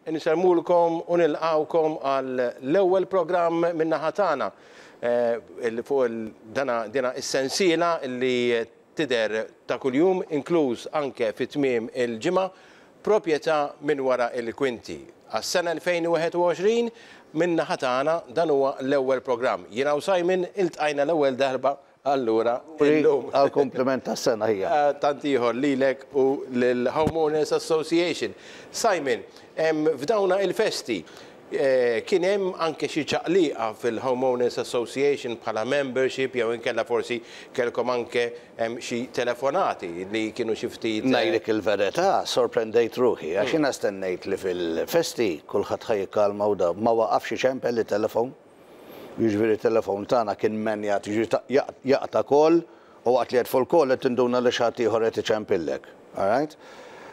Insellmulkom u nilqgħukom għal l-ewwel programm min-naħa tagħna fuq dana dina is-sensiela li tidher ta' kuljum inkluż anke fi tmiem il-ġimgħa Proprjetà minn wara l-kwinti. Għas-sena 2021 min-naħa tagħna dan huwa l-ewwel programm. Jiena u Simon iltqajna l-ewwel darba Allura, illum. Għall-kumpliment tas-sena hija. Tant ieħor lilek u lill-Homeowners Association. Simon, f'dawna il-festi, kien hemm anke xi ċaqliqa fil-Homeowners Association bħala membership jew inkella forsi kellkom anke xi telefonati li kienu xi ftit. Ngħidlek il-verità, sorprendejt ruħi għax jiena stennejt li fil-festi kulħadd ħa jikkalma u da ma waqafx iċempel it-telefon. Jiġifieri t-telefon tagħna kien menjat, jiġifieri jaqta' call u waqt li qed fuq il-call qed tinduna li xi ħadd ieħor qed iċempillek. All right?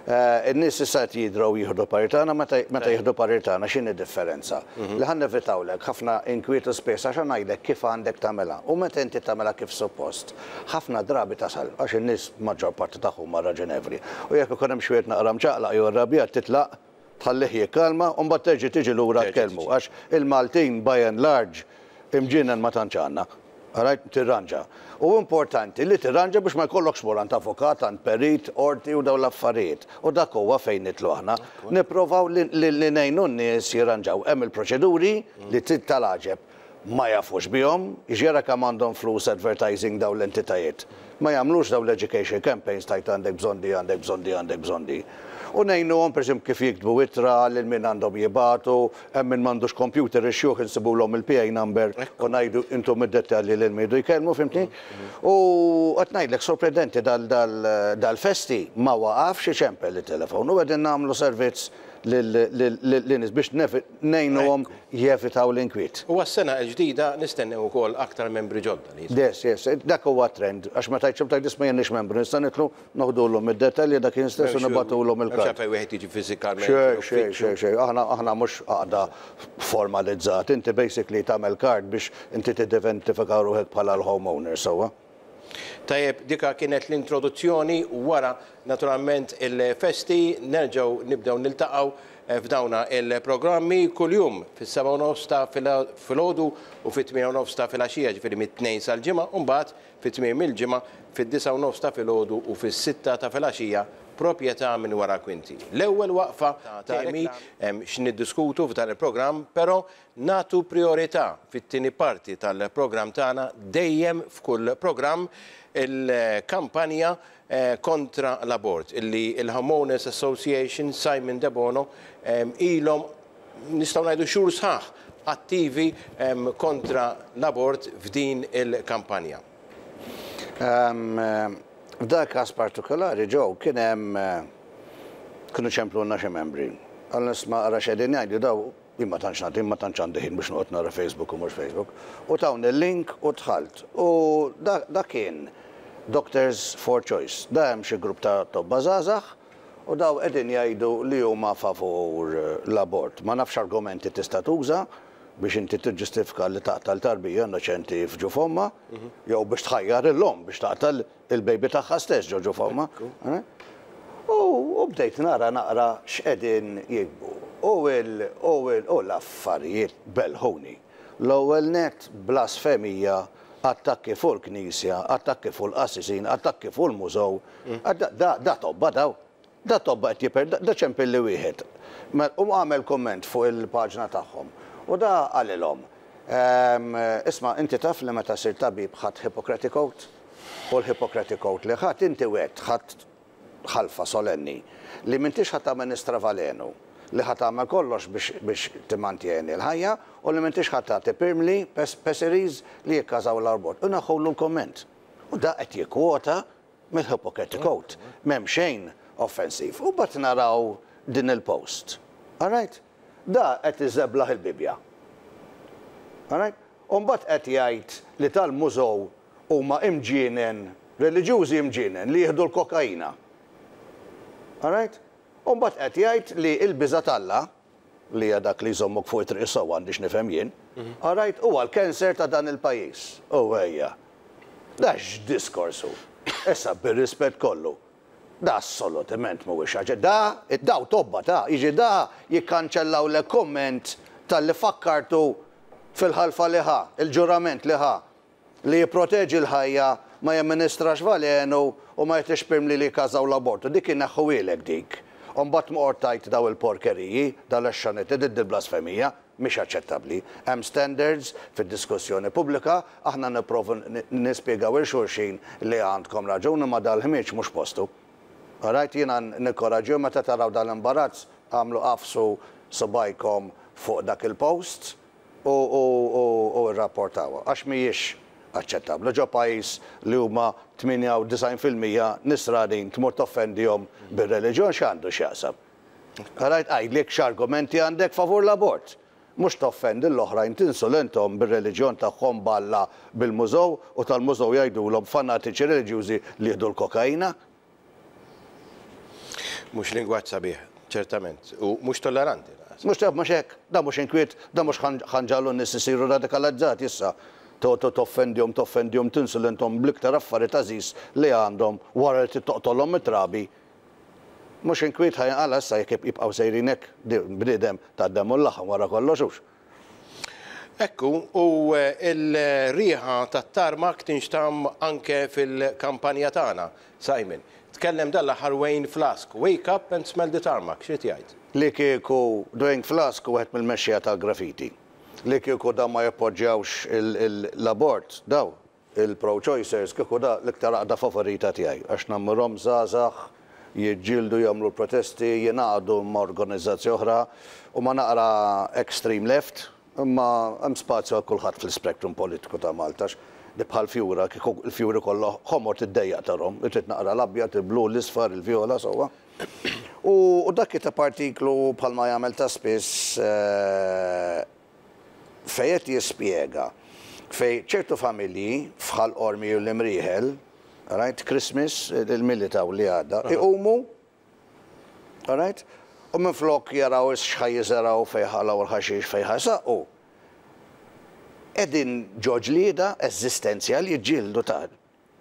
In-nies issa qed jidraw jieħdu parir tagħna, meta meta jieħdu parir tagħna x'inhi differenza? Li ħa nevitawlek ħafna inkwiet u spejjeż għax ħa ngħidlek kif għandek tagħmilha. U meta inti tagħmilha kif suppost, ħafna drabi tasal għax in-nies maġġor parti tagħhom huma raġonevoli. U jekk ikun hemm xi wieħed naqra mċaqlaq jew irrabjat titlaq tħallih jikkalma u mbagħad terġa' tiġi lura tkellmu għax il-Maltin by and large imġienen ma tantx għandna. Alright? Tirranġa. U importanti li tirranġa biex ma jkollokx tmur għand avukat, għand perit, qorti u dawn l-affarijiet. U dak huwa fejn nidħlu aħna. Nipprovaw li ngħinu n-nies jirranġaw. Hemm il-proċeduri li tal-għaġeb. ma jafux bihom, jiġi ara kemm għandhom flus advertising dawn l-entitajiet. Ma jagħmlux dawn l-education campaigns tgħid għandek bżonn di, għandek bżonn di, għandek bżonn di. U ngħinuhom pereżempju kif jiktbu ittra, lil min għandhom jibagħtu, hemm min m'għandux computer ix-xjuħ insibulhom il-PA number u ngħidu intom id-dettalji lil min jridu jkellmu, fhimtni? U qed ngħidlek sorprendenti dal-festi ma waqafx iċempel it-telefon u qegħdin nagħmlu servizz lin-nies biex ngħinuhom jevitaw l-inkwiet. U għas-sena l-ġdida nistennew ukoll aktar membri ġodda li jidħlu. Yes, yes, dak huwa t-trend, għax meta jċemplu tgħid isma' jien m'iniex membru, nista' nidħlu, noħdulhom id-dettalji dak jien stess u nibagħtulhom il-kard. M'hemmx għalfejn wieħed jiġi fiżikament. Xejn, xejn, xejn, xejn, aħna aħna mhux għaqda formalizzata, inti basically tagħmel kard biex inti tidentifika ruħek bħala l-homeowner, sewwa? Tajjeb, dika kienet l-introduzzjoni wara naturalment il-festi nerġgħu nibdew niltaqgħu f'dawna il-programmi kuljum fis-7:30 ta' filgħodu u fit-8:30 ta' filgħaxija, ġifieri mit-Tnejn sal-Ġimgħa, u mbagħad fi tmiem il-ġimgħa fid-9:30 ta' filgħodu u fis-sitta ta' filgħaxija proprjetà minn wara kwinti. L-ewwel waqfa ta' temi hemm x'niddiskutu f'dan il-programm, però Nagħtu prijorità fit-tieni parti tal-programm tagħna dejjem f'kull programm il-kampanja kontra l-abort illi l-Homeowners Association Simon Debono ilhom nistgħu ngħidu xhur sħaħ attivi kontra l-abort f'din il-kampanja. F'dak każ partikolari Joe kien hemm kienu ċemplulna xi membri. Qalulna isma' ara x'qegħdin jgħidu daw Jien ma tantx nagħti, ma tantx għandi ħin biex noqgħod nara Facebook u mhux Facebook. U tawni l-link u dħalt. U da da kien Doctors for Choice. Da hemm xi grupp ta' tobba żgħażagħ u daw qegħdin jgħidu li huma favur l-abort. Ma nafx x'argumenti tista' tuża biex inti tiġġustifika li taqta' l-tarbija innoċenti f'ġuf ommha, jew biex tħajjar lill-omm biex taqta' il-baby tagħha stess ġo ġuf ommha. U bdejt nara naqra x'qegħdin jiktbu. U il u il u l-affarijiet belħuni. L-ewwel nett blasfemija, attakki fuq il-Knisja, attakki fuq il-qassisin, attakki fuq il-mużew. Da da tobba daw. Da tobba qed jiper da ċempilli wieħed. U għamel kumment fuq il-paġna tagħhom. U da qalilhom, Isma' inti taf li meta sirt tabib ħadt Hippocratic Oath? U l-Hippocratic Oath li ħadt inti wegħedt, ħadt ħalfa solenni, li m'intix ħa tamministra valenu, li ħa tagħmel kollox biex biex timmantjeni l-ħajja u li m'intix ħa tagħti pirmli, pessaries, li jikkażaw l-abort. U neħħulu l-kumment. U da qed jikkwota mill-Hippocratic Oath. M'hemm xejn offensiv. U mbagħad naraw din il-post. All right? Da qed iżeblaħ il-Bibbja. All right? U mbagħad qed jgħid li tal-mużew huma imġienen, reliġjużi imġienen li jieħdu l-kokaina. All right? U mbagħad qed jgħid li l-biża' t'Alla, li hija dak li jżommok fuq it-triq is-sewwa għandi x'nifhem jien, all right, huwa l-cancer ta' dan il-pajjiż. U ejja. Da x'diskors hu? Issa bir-rispett kollu. Da assolutament mhuwiex ħaġa. Da, daw tobba ta, jiġi da jikkanċellawlek kumment talli fakkartu fil-ħalfa li ħa, il-ġurament li ħa, li jipproteġi l-ħajja, ma jamministrax valenu u ma jagħtix pirmli li jikkażaw l-abortu. Dik ineħħuhielek dik. U mbagħad tmur tgħid daw il-porkeriji, dal-għexxaniti, dil-blasfemija. Mhix aċċettabbli. Hemm standards fid-diskussjoni pubblika, aħna nipprovu nispjegaw 'il xulxin li għandkom raġun imma dal-ħmieġ mhux postu. Alright, jiena nikkoraġġihom meta taraw dal-imbarazz agħmlu agħfsu subgħajkom fuq dak il-post u u rrapportawha għax mhijiex aċċettabbli. Ġo pajjiż li huma 98% nisranin tmur toffendihom bir-reliġjon x'għandu x'jaqsam? Rajt għidli x'argumenti għandek favur l-abort. Mhux toffendi l-oħrajn tinsulenthom bir-reliġjon tagħhom b'Alla bil-mużew u tal-mużew jgħidulhom fanatiċi reliġjużi li jieħdu l-kokaina. Mhux lingwaġġ sabiħ, ċertament, u mhux tolleranti lanqas. Mhux mhux hekk, dan mhux inkwiet, dan mhux ħa nġagħlu n-nies isiru radikalizzati issa. Toqgħod toffendihom, toffendihom, tinsulenthom bl-iktar affarijiet għażiż li għandhom wara li trid toqtolhom mit-trabi. Mhux inkwiet ħa jinqala' issa jekk jibqgħu sejrin hekk, bniedem tad-demm u l-laħam wara kollox hux. Hekk hu, u l-riħa tat-tarmak tinxtamm anke fil-kampanja tagħna. Simon, tkellem dan l-aħħar Wayne Flask, Wake up and smell the tarmac, x'ried jgħid? Li kieku Dwayne Flask hu wieħed mill-mexxejja tal-graffiti. Li kieku dawn ma jappoġġjawx l-abort, dawn, Il-pro-choicers kieku da l-iktar għaqda favorita tiegħi għax nammirhom żgħażagħ jiġġieldu jagħmlu l-protesti jingħaqdu ma' organizzazzji oħra huma naqra extreme left imma hemm spazju għal kulħadd fl-ispectrum politiku ta' Malta għax di bħal fjura kieku l-fjuri kollha ħomor tiddejjaq tarhom trid naqra l-abjad il-blu l-isfar il-vjola sewwa. U dak kiteb artiklu bħalma jagħmel ta' spiss fejn qed jispjega fejn ċertu familji f'Ħal Qormi u l-Imrieħel, right, Christmas, il-Milied hawn li għadda, iqumu, right, u minflok jaraw x'ħa jiżergħu fejn ħalgħu l-ħaxix fejn ħa jsaqqu, qegħdin ġo ġlieda eżistenzjali jiġġieldu ta'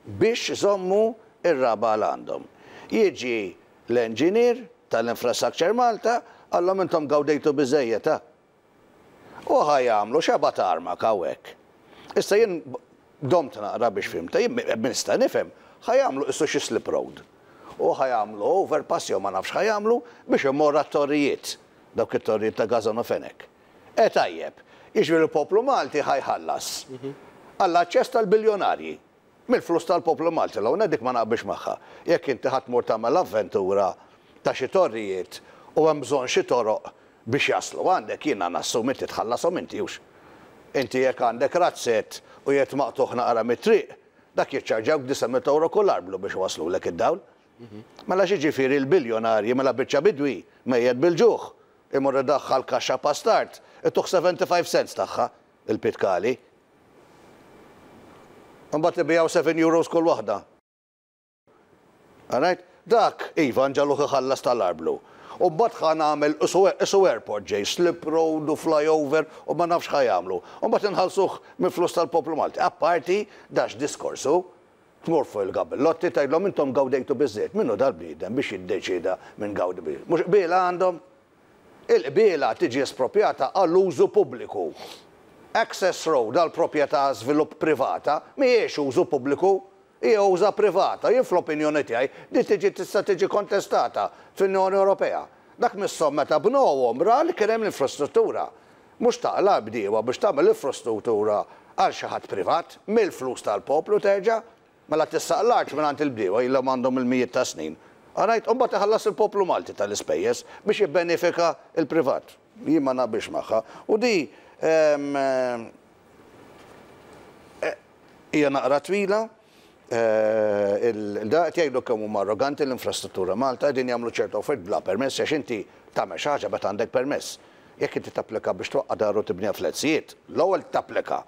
biex iżommu r-raba' l għandhom. Jiġi l-engineer tal-Infrastructure Malta, qallhom intom gawdejtu biżżejjed, ha? U ħa jagħmlu xebgħa tarmak hawnhekk. Issa jien domt naqra biex fhimtha, jien nista' nifhem, ħa jagħmlu qisu xi slip road. U ħa jagħmlu overpass jew ma nafx x'ħa jagħmlu biex imorru għat-torrijiet, dawk it-torrijiet ta' Gażan u Fenech. E tajjeb, jiġifieri l-poplu Malti ħa jħallas għall-aċċess tal-biljonarji. Mill-flus tal-poplu Malti, l-ewwel nett dik ma naqbilx magħha. Jekk inti ħa tmur tagħmel avventura ta' xi torrijiet u hemm bżonn xi toroq biex jaslu għandek, jiena nassumi inti tħallashom inti hux. Inti jekk għandek razzett u qiegħed maqtugħ naqra mit-triq, dak jiċċarġjawk 900 ewro kull arblu biex iwasslulek id-dawl. Mela x'jiġifieri l-biljonarji, mela biċċa bidwi mejjet bil-ġuħ, imur idaħħal kaxxa pastard, ituh 75 cents tagħha, il-pitkali. Imbagħad ibigħu 7 euros kull waħda. Alright? Dak, iva, nġagħluh iħallas tal-arblu. U mbagħad ħa nagħmel qisu airport ġej, slip road u flyover u ma nafx x'ħa jagħmlu. U mbagħad inħallsuh mill-flus tal-poplu Malti. Apparti da x'diskors hu? Tmur fuq il-gabillotti tgħidlhom intom gawdejtu biżżejjed. Min hu dal-bniedem biex jiddeċieda min gawdi biżżejjed? Mhux qbiela għandhom? Il-qbiela tiġi esproprjata għall-użu pubbliku. Access road għal proprjetà żvilupp privata mhijiex użu pubbliku, hija uża privata. Jien fl-opinjoni tiegħi din tiġi tista' tiġi kontestata fl-Unjoni Ewropea. Dak misshom meta bnewhom ra li kien hemm l-infrastruttura. Mhux taqla' l-bdiewa biex tagħmel infrastruttura għal xi ħadd privat, mill-flus tal-poplu terġa'. Mela tissaq l-art mingħand il-bdiewa ilhom għandhom il-mijiet ta' snin. Alright, u mbagħad iħallas il-poplu Malti tal-ispejjeż biex jibbenefika l-privat. Jien ma naqbilx magħha. U di hija naqra twila. Da qed jgħidu kemm huma arroganti l-infrastruttura Malta, qegħdin jagħmlu ċertu affarijiet bla permess għax inti tagħmel xi ħaġa meta għandek permess. Jekk inti tapplika biex twaqqa' dar u tibniha flettsijiet, l-ewwel tapplika.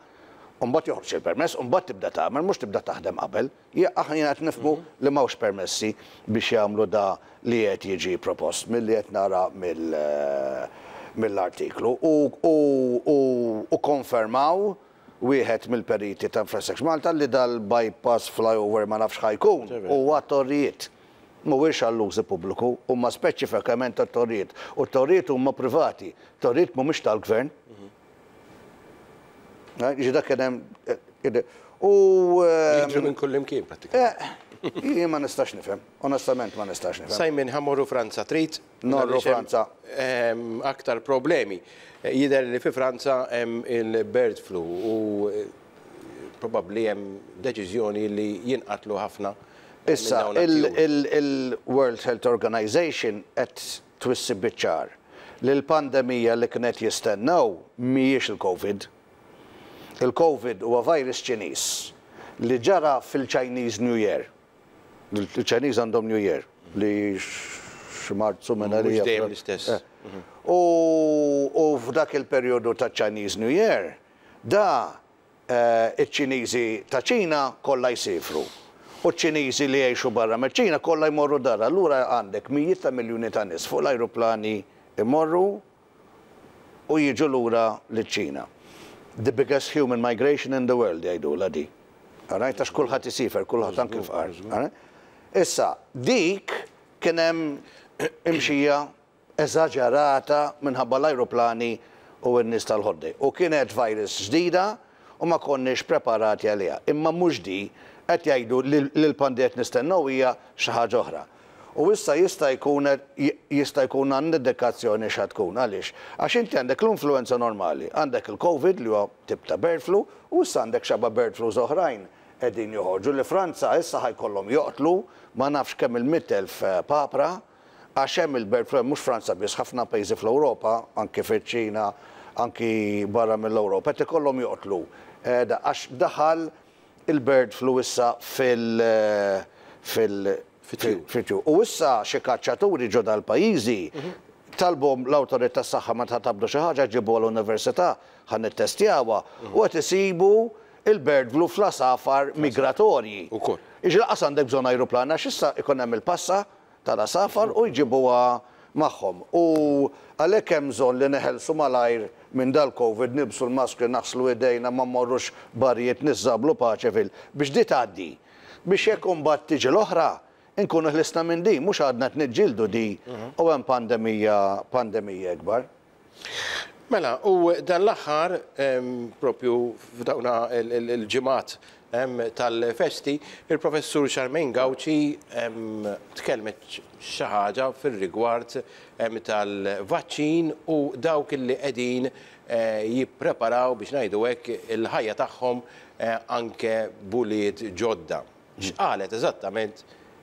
U mbagħad joħroġ il-permess u mbagħad tibda tagħmel, mhux tibda taħdem qabel. Aħna qed nifhmu li m'hawnx permessi biex jagħmlu da li qed jiġi propost milli qed nara mill-artiklu. U konfermaw wieħed mill-periti ta' Infrastructure Malta li dal-bypass flyover ma nafx ħa jkun huwa torrijiet. Mhuwiex għall-użu pubbliku, huma speċifikament għat-torrijiet. U t-torrijiet huma privati, torrijiet mhumiex tal-gvern. Jiġi dak kien hemm u. Jidhru minn kullimkien prattikament. Jien ma nistax nifhem, onestament ma nistax nifhem. Simon, ħa mmorru Franza, trid? Norru Franza. Aktar problemi. Jidher li fi Franza hemm il-bird flu u probabbli hemm deċiżjoni li jinqatlu ħafna. Issa, il-World Health Organization qed twissi biċ-ċar li l-pandemija li kienet jistennew mhijiex il-Covid. Il-Covid huwa virus Ċiniż li ġara fil-Chinese New Year. Il-Chinese għandhom New Year li xi Marzu minn għalija. Mhux dejjem l-istess. U f'dak il-perjodu ta' Chinese New Year, da Iċ-Ċiniżi ta' Ċina kollha jsiefru u ċ-Ċiniżi li jgħixu barra miċ-Ċina kollha jmorru dar. Allura għandek mijiet ta' miljuni ta' nies fuq l-ajruplani jmorru u jiġu lura liċ-Ċina. The biggest human migration in the world jgħidulha di. All right? Għax kulħadd isiefer, kulħadd anki l-fqar. All right? Issa, dik kien hemm imxija eżaġerata minħabba l-ajruplani u n-nies tal-holiday. U kienet virus ġdida u ma konniex preparati għaliha. Imma mhux di, qed jgħidu li l-pandemija qed nistennew hija xi ħaġa oħra. U issa jista' jkun jista' jkun għandna indikazzjoni x'ha tkun. Għaliex? Għax inti għandek l-influenza normali, għandek il-Covid li huwa tip ta' bird flu u issa għandek xaba bird flus oħrajn qegħdin joħorġu li Franza issa ħa jkollhom joqtlu ma nafx kemm il-100,000 papra Għax hemm il-bird flu, mhux Franza biss, ħafna pajjiżi fl-Ewropa, anki fiċ-Ċina, anki barra mill-Ewropa, qed ikollhom joqtlu għax daħal il-bird flu issa fil fil fit-tjur. U issa xi kaċċaturi ġo dal-pajjiżi talbuhom l-awtorità tas-saħħa meta tabdu xi ħaġa ġibuha l-università ħa nittestjawha u qed isibu il-bird flu fl-għasafar migratorji. Jiġifieri lanqas għandek bżonn ajruplan għax issa ikun hemm il-passa tal-għasafar u jġibuha magħhom. U għalhekk hemm bżonn li neħelsu malajr minn dal-Covid, nilbsu l-maskri, naħslu idejna, ma mmorrux barijiet niżżablu paċe fil. Biex di tgħaddi. Biex jekk imbagħad tiġi l-oħra, inkunu ħlisna minn din, mhux għadna qed niġġieldu di u hemm pandemija pandemija ikbar. Mela, u dan l-aħħar, propju f'dawna l-ġimgħat tal-festi, il-Professur Charmaine Gauci tkellmet xi ħaġa fir-rigward tal-vaċċin u dawk li qegħdin jippreparaw biex ngħidu hekk il-ħajja tagħhom anke b'ulied ġodda. X'qalet eżattament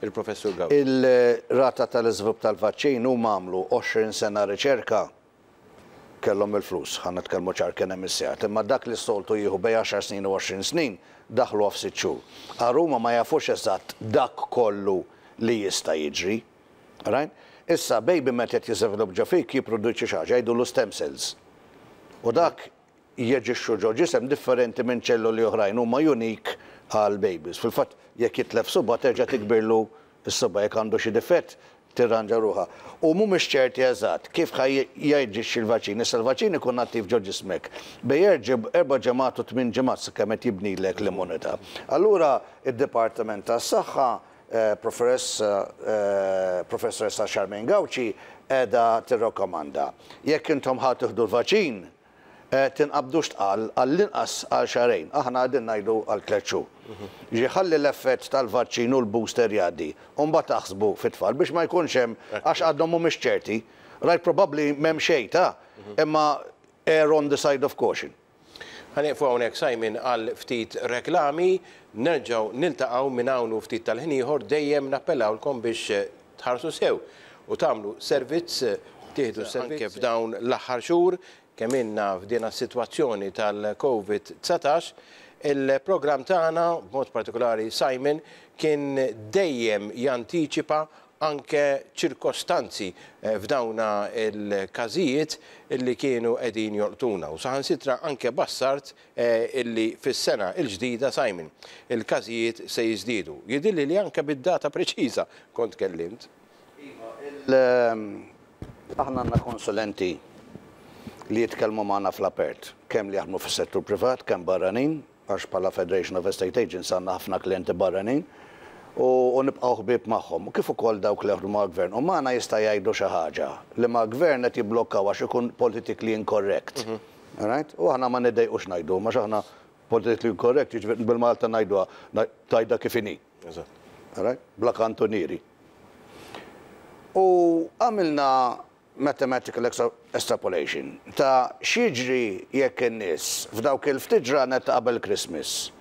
il-Professur Gauci? Il-rata tal-iżvilupp tal-vaċċin huma għamlu 20 sena riċerka, kellhom il-flus, ħa nitkellmu ċar kien hemm is-sigħat, imma dak li s-soltu jieħu bejn għaxar snin u 20 snin daħluha f'sitt xhur. Agħar huma ma jafux eżatt dak kollu li jista' jiġri. Right? Issa baby meta qed jiżvilupp ġo fik jipproduċi xi ħaġa jgħidulu stem cells. U dak jaġixxu ġo ġisem differenti minn ċelloli oħrajn, huma unique għal babies. Fil-fatt, jekk jitlef subgħa terġa' tikbirlu s-subgħa, jekk għandu xi difett tirranġa ruħha. U mhumiex ċerti eżatt kif ħa jaġixxi l-vaċċin. Issa l-vaċċin ikun attiv ġo ġismek bejn erba' ġimgħat u tmien ġimgħat sakemm qed jibnilek l-immunità. Allura d-Dipartiment tas-Saħħa, Professoressa Charmaine Gauci qiegħda tirrakkomanda jekk intom ħa tieħdu l-vaċċin, Tinqabdux tqal għall-inqas għal xahrejn, aħna qegħdin ngħidu għal tlett xhur. Jiġifieri ħalli l-effett tal-vaċċin u l-booster jgħaddi u mbagħad aħsbu fit-tfal biex ma jkunx hemm għax għadhom mhumiex ċerti. Right probabbli m'hemm xejn ta' imma err on the side of caution. Ħa nieqfu hawnhekk Simon għal ftit reklami, nerġgħu niltaqgħu minn hawn u ftit tal-ħin ieħor dejjem nappellawlkom biex tħarsu sew u tagħmlu servizz, tieħdu s-servizz anke f'dawn l-aħħar xhur kemm ilna f'dina s-sitwazzjoni tal-Covid 19, il-programm tagħna, b'mod partikolari Simon, kien dejjem jantiċipa anke ċirkostanzi f'dawna l-każijiet li kienu qegħdin jolqtuna u saħansitra anke bassart illi fis-sena l-ġdida, Simon, il-każijiet se jiżdiedu. Jidhirli li anke bid-data preċiża kont tkellimt. Iva, aħna għandna konsulenti li jitkellmu magħna fl-apert, kemm li jaħdmu fis-settur privat, kemm barranin, għax bħala Federation of Estate Agents għandna ħafna klijenti barranin. U nibqgħu ħbieb magħhom. U kif ukoll dawk li jaħdmu mal-gvern. U magħna jista' jgħidu xi ħaġa li mal-gvern qed jibblokkaw għax ikun politically incorrect. Alright? U aħna ma niddejqux ngħidu, għax aħna politically incorrect, jiġifieri bil-Malta ngħiduha, tgħidha kif inhi. Alright? Bla kantunieri. U għamilna mathematical extrapolation ta' x'jiġri jekk in-nies f'dawk il-ftit ġranet ta' qabel Christmas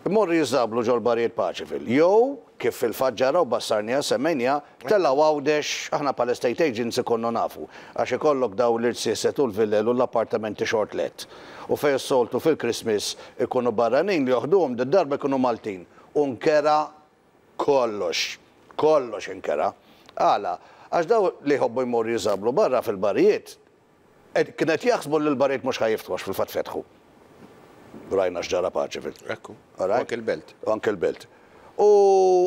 imorru jiżżablu ġol-barijiet Paceville jew, kif fil-fatt ġara u bassarniha, semmejniha, telgħu Għawdex, aħna bħala estate agents ikollu nafu, għax ikollok dawn l-irziezet u l-villel u l-appartamenti short let. U fejn s-soltu fil-Christmas ikunu barranin li joħduhom, did-darba jkunu Maltin. U nkera Kollox. Kollox inkera. Għala? Għax dawn li jħobbu jmorru jiżablu barra fil-barijiet, kienu qed jaħsbu li l-barijiet mhux ħa jiftħu għax fil-fatt fetħu. Rajna x'ġara Paceville. Ekku. U anke l-Belt. U anke l-Belt. U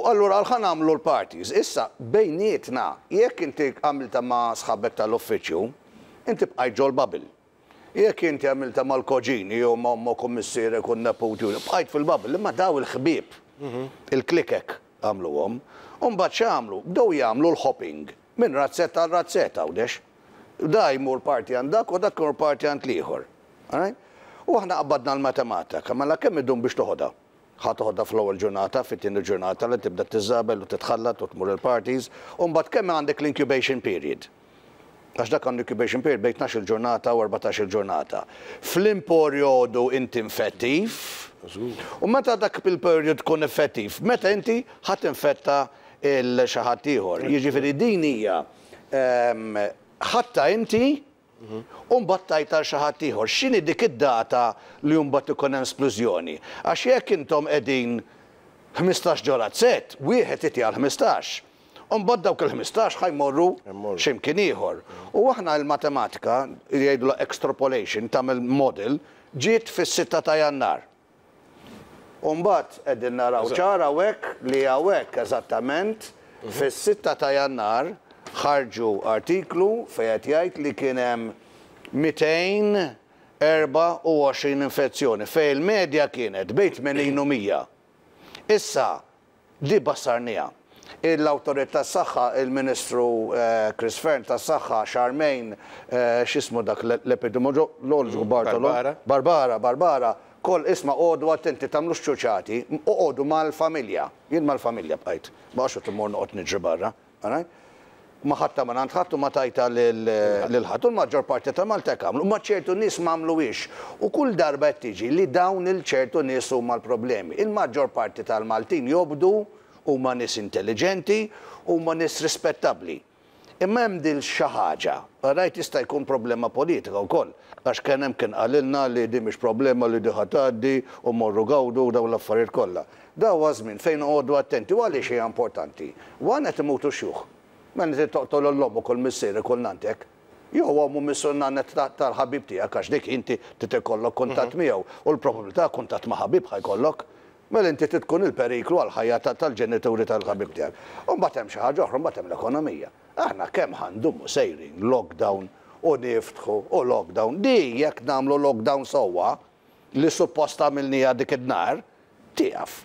allura qal ħa nagħmlu l-parties. Issa, bejnietna, jekk inti għamiltha ma' sħabek tal-uffiċċju, inti bqajt ġol-bubble. Jekk inti għamiltha mal-koġini jew ma' ommok u missierek u n-neputi u bqajt fil-bubble, imma daw il-ħbieb, il-klikek għamluhom. U mbagħad x'għamlu? Bdew jagħmlu l-hopping minn razzett għal razzett Għawdex. Da jmur party għand dak u dak imur party għand l-ieħor. Alright? U aħna qbadna l-matematika, mela kemm idum biex toħodha? Ħa toħodha fl-ewwel ġurnata, fit-tieni ġurnata li tibda tiżżabel u titħallat u tmur il-parties, u mbagħad kemm għandek l-incubation period. Għax dak għandu incubation period bejn tnax-il ġurnata u 14-il ġurnata. F'liem perjodu inti infettiv, u meta dak il-period tkun effettiv, meta inti ħa tinfetta 'l xi ħadd ieħor. Jiġifieri din hija ħadtha inti U mbagħad tgħid għal xi ħadd ieħor. X'inhi dik id-data li mbagħad ikun hemm splużjoni? Għax jekk intom qegħdin 15 ġo razzett, wieħed iti għal 15. U mbagħad dawk il-15 ħa jmorru xi mkien ieħor. U aħna l-matematika, jgħidulha extrapolation, tagħmel model, ġiet fis-sitta ta' Jannar. U mbagħad qegħdin naraw ċar hawnhekk li hawnhekk eżattament fis-sitta ta' Jannar ħarġu artiklu fejn qed jgħid li kien hemm 224 infezzjoni fejn il-medja kienet bejn 80 u 100. Issa Di bassarniha. L-Awtorità tas-Saħħa, il-Ministru Chris Fearne tas-Saħħa, Charmaine, x'ismu dak l-epidemiologu Bartolo? Barbara. Barbara, Barbara, koll isma' oqogħdu attenti tagħmlux ċuċati, oqogħdu mal-familja. Jien mal-familja bqajt. Ma għax immur noqgħod niġri barra. All right? Ma ħadtha mingħand ħadd u ma tajtha lil ħadd. U l-maġġor parti ta' Malta hekk għamlu. Imma ċertu nies ma għamluhiex. U kull darba qed tiġi li dawn il-ċertu nies huma l-problemi. Il-maġġor parti tal-Maltin jobdu, huma nies intelliġenti, huma nies rispettabbli. Imma hemm dil xi ħaġa, all right, jista' jkun problema politika wkoll. Għax kien hemm kien qalilna li din mhix problema li di ħa tgħaddi u morru gawdu u dawn l-affarijiet kollha. Da huwa żmien fejn noqogħdu attenti u għaliex hija importanti? One qed imutu x-xjuħ. Mela inti toqtol 'l ommok u 'l missierek u 'l nanntek. Jew omm u missier u nannet tal-ħabib tiegħek għax dik inti trid ikollok kuntatt miegħu u l-probabilità kuntatt ma' ħabib ħa jkollok. Mela inti trid tkun il-periklu għall-ħajja tal-ġenituri tal-ħabib tiegħek. U mbagħad hemm xi ħaġa oħra, mbagħad hemm l-ekonomija. Aħna kemm ħa ndumu sejrin lockdown u niftħu u lockdown. Di jekk nagħmlu lockdown sewwa, li suppost għamilniha dik id-nhar, tieqaf.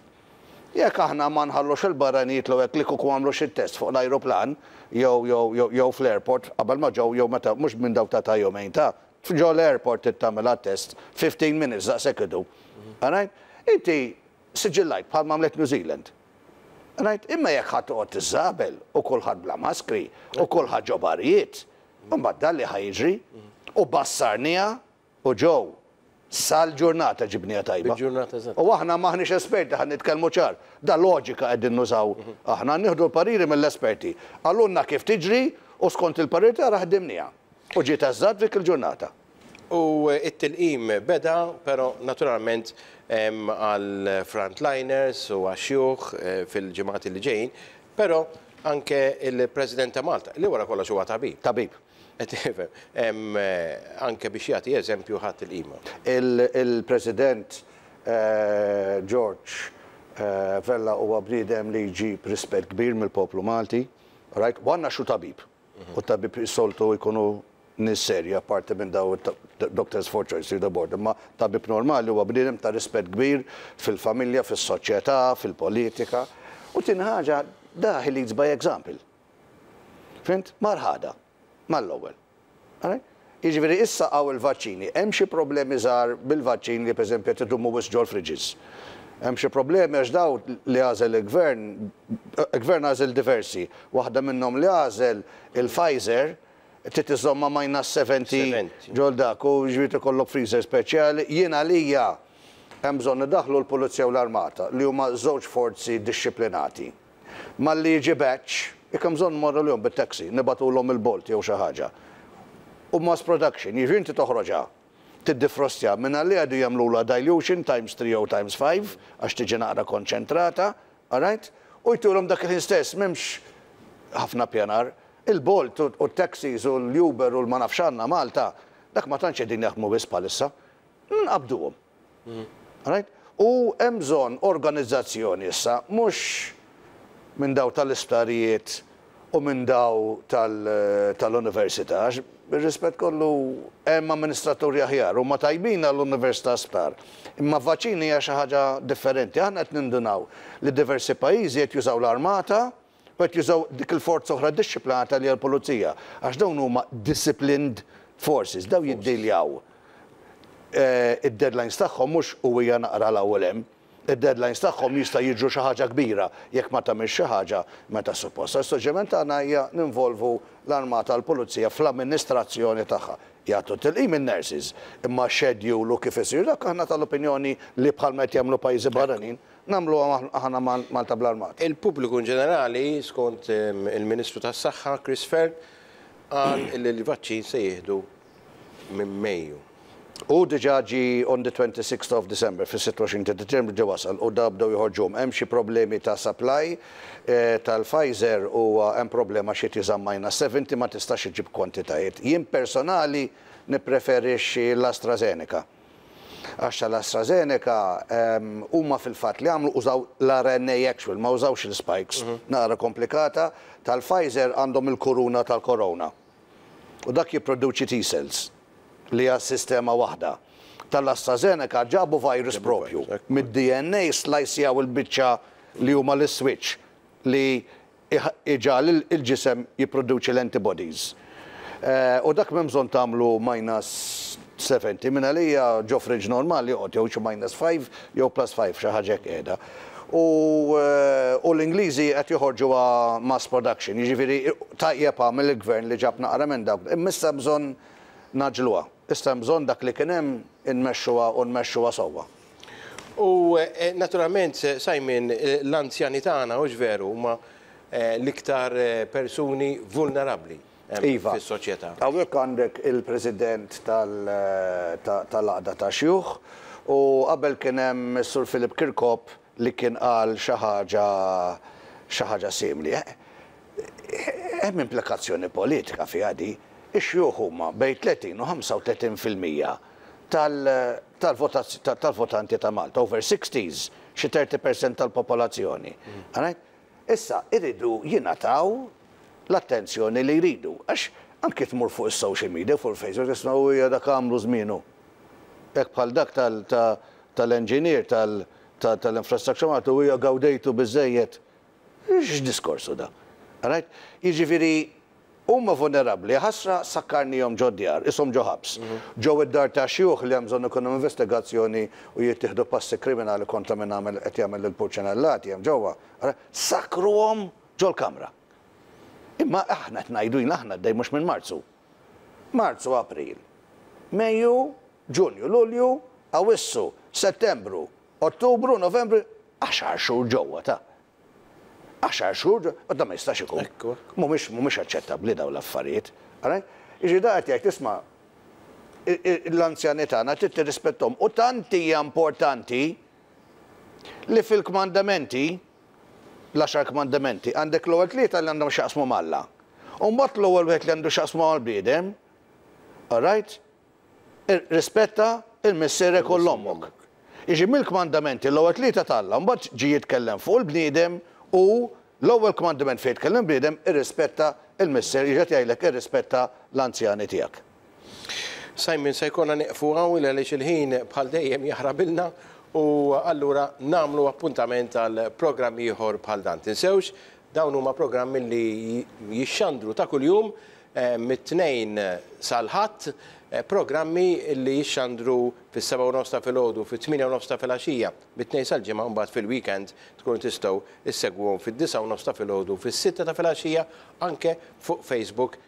Jekk aħna ma nħallux il-barranin jitlu hekk li kieku għamlu xi test fuq l-ajruplan jew jew jew jew fl-airport qabel ma ġew jew meta mhux minn dawk ta' ta' jumejn ta' ġo l-airport trid tagħmilha test 15 minutes daqshekk idum. Alright? Inti siġillajt bħalma għamlet New Zealand. Right? Imma jekk ħa toqgħod tiżżabel u kulħadd bla maskri u kulħadd ġo barijiet, imbagħad dan li ħa jiġri u bassarniha u ġew sal-ġurnata ġibniha tajba. Bil-ġurnata eżatt. U aħna m'aħniex esperti ħa nitkellmu ċar. Da loġika qegħdin nużaw aħna, nieħdu l-pariri mill-esperti. Qalulna kif tiġri u skont il-parir tagħna ħdimniha. U ġiet eżatt f'dik il-ġurnata. U t-tilqim beda, però naturalment għall-frontliners u għax-xjuħ fil-ġimgħat li ġejjin, però anke l-President ta' Malta, li wara kollox huwa tabib. Tabib. Qed tifhem, anke biex jagħti eżempju ħa t-tilqima. Il-President George Vella huwa bniedem li jġib rispett kbir mill-poplu Malti, right? U għandna xu tabib. U tabib is-soltu jkunu nies serji apparti minn dawn doctors for choice li board. Imma tabib normali huwa bniedem ta' rispett kbir fil-familja, fis-soċjetà, fil-politika. U tieni ħaġa, da he leads by example. Fhimt? Mar ħadha. Mal-ewwel. Alright? Jiġifieri issa hawn il-vaċċini. Hemm xi problemi żgħar bil-vaċċin li pereżempju qed idumu wisq ġol-fridges. Hemm xi problemi għax dawn li għażel il-Gvern, il-Gvern għażel diversi. Waħda minnhom li għażel il-Pfizer trid iżżommha minus 70 ġol dak u jiġifieri ikollok freezer speċjali. Jien għalija hemm bżonn idaħħlu l-Pulizija u l-Armata li huma żewġ forzi dixxiplinati. Malli jiġi batch, jekk hemm bżonn mmorru lihom bit-taxi, nibagħtulhom il-Bolt jew xi ħaġa. U mass production, jiġifieri inti toħroġha, tiddifrostja, mingħalli għadu jagħmlulha dilution times 3 jew times 5 għax tiġi naqra konċentrata, all right? U jtulhom dak il-ħin stess, m'hemmx ħafna pjanar. Il-Bolt u t-taxis u l-Uber u l-ma nafx għandna Malta, dak ma tantx qegħdin jaħdmu wisq bħalissa. Nqabduhom. Right? U hemm bżonn organizzazzjoni issa, mhux minn daw tal-isptarijiet u minn daw tal-università, għax bir-rispett kollu hemm amministraturi aħjar, huma tajbin għall-università sptar. Imma vaċċini hija xi ħaġa differenti. Aħna qed nindunaw li diversi pajjiżi qed jużaw l-armata u qed jużaw dik il-forza oħra dixxiplinata li hija l-pulizija, għax dawn huma disciplined forces, daw jiddiljaw id-deadlines tagħhom mhux u hija naqra l-ewwel hemm. Id-deadlines tagħhom jista' jiġru xi ħaġa kbira jekk ma tagħmilx xi ħaġa meta suppost. Is-suġġeriment tagħna hija ninvolvu l-armata l-pulizija fl-amministrazzjoni tagħha. Jagħtu tilqim in-nurses, imma schedule u kif isir dak aħna tal-opinjoni li bħalma qed jagħmlu pajjiżi barranin, nagħmluha aħna Malta bl-armata. Il-pubbliku in ġenerali, skont il-Ministru tas-Saħħa Chris Fearne, qal li l-vaċċin se jieħdu minn Mejju. Hu diġà ġie on the 26th of December, fis-26 ta' Diċembru ġie wasal u da bdew joħorġuhom. Hemm xi problemi ta' supply tal-Pfizer u hemm problema xi tiżamm minus 70 ma tistax iġġib kwantitajiet. Jien personali nippreferixxi l-AstraZeneca. Għax tal-AstraZeneca huma fil-fatt li għamlu użaw l-RNA actual, ma użawx il-spikes. Naqra komplikata. Tal-Pfizer għandhom il-kuruna tal-corona. U dak jipproduċi T-cells li hija sistema waħda. Tal-AstraZeneca ġabu virus propju. Mid-DNA slicejaw il-biċċa li huma l-switch li iġagħal il-ġisem jipproduċi l-antibodies. U dak m'hemm bżonn tagħmlu minus 70, minn għalija ġo fridge normali joqgħod jew xi minus 5 jew plus 5 xi ħaġa hekk qiegħda. U l-Ingliżi qed joħorġuha mass production, jiġifieri tajjeb għamel il-gvern li ġab naqra minn dawk, imma issa bżonn ngħaġġluha. Issa hemm bżonn dak li kien hemm inmexxuha u nmexxuha sewwa. U naturalment, Simon, l-anzjani tagħna, hux veru, huma l-iktar persuni vulnerabbli fis-soċjetà. Hawnhekk għandek il-President tal-Għaqda ta' Xjuħ u qabel kien hemm is-Sur Philip Kirkop li kien qal xi ħaġa xi ħaġa simili. Hemm implikazzjoni politika fiha di. Ix-xjuħ huma bejn 30 u 35% tal-votanti ta' Malta, over 60s, xi 30% tal-popolazzjoni. Issa iridu jingħataw l-attenzjoni li jridu. Għax anki tmur fuq is-social media, fuq il-Facebook, tisma' u hija dak għamlu żmienu. Hekk bħal dak tal-engineer tal-infrastructure Malta u hija gawdejtu biżejjed. X'diskorsu da? Right? Jiġifieri huma vulnerabbli, ħasra sakkarnihom ġo djar, ishom ġo ħabs. Ġew id-dar ta' xjuħ li hemm bżonn ikun hemm investigazzjoni u jittieħdu passi kriminali kontra min għamel qed jagħmel il-purċinellati hemm ġewwa. Sakkruhom ġol-kamra. Imma aħna qed ngħidu jien aħna għaddej mhux minn Marzu. Marzu, April, Mejju, Ġunju, Lulju, Awwissu, Settembru, Ottubru, Novembru, għaxar xhur ġewwa ta' għaxar xhur, u da ma jistax ikun. Mhumiex mhumiex aċċettabbli dawn l-affarijiet. Jiġi da qed jgħid isma' l-anzjani tagħna trid tirrispettom u tant hija importanti li fil-kmandamenti l-għaxar kmandamenti għandek l-ewwel tlieta li għandhom x'jaqsmu m'Alla. U mbagħad l-ewwel wieħed li għandu x'jaqsmu mal-bniedem, all right? Irrispetta il-missierek u l-ommok. Jiġi mill-kmandamenti l-ewwel tlieta t'Alla, mbagħad ġie jitkellem fuq il-bniedem u l-ewwel kmandament fejn jitkellem bniedem irrispetta il-missier, jiġi qed jgħidlek irrispetta l-anzjani tiegħek. Simon, se jkollna nieqfu hawn għaliex il-ħin bħal dejjem jaħrabilna U allura nagħmlu appuntament għal programm ieħor bħal dan. Tinsewx, dawn huma programmi li jixxandru ta' kuljum mit-Tnejn sal-Ħadd, programmi li jixxandru fis-7:30 ta' filgħodu, fit-8:30 ta' filgħaxija, mit-Tnejn sal-Ġimgħa, mbagħad fil-weekend tkunu tistgħu issegwuhom fid-9:30 ta' filgħodu, fis-6 ta' filgħaxija, anke fuq Facebook.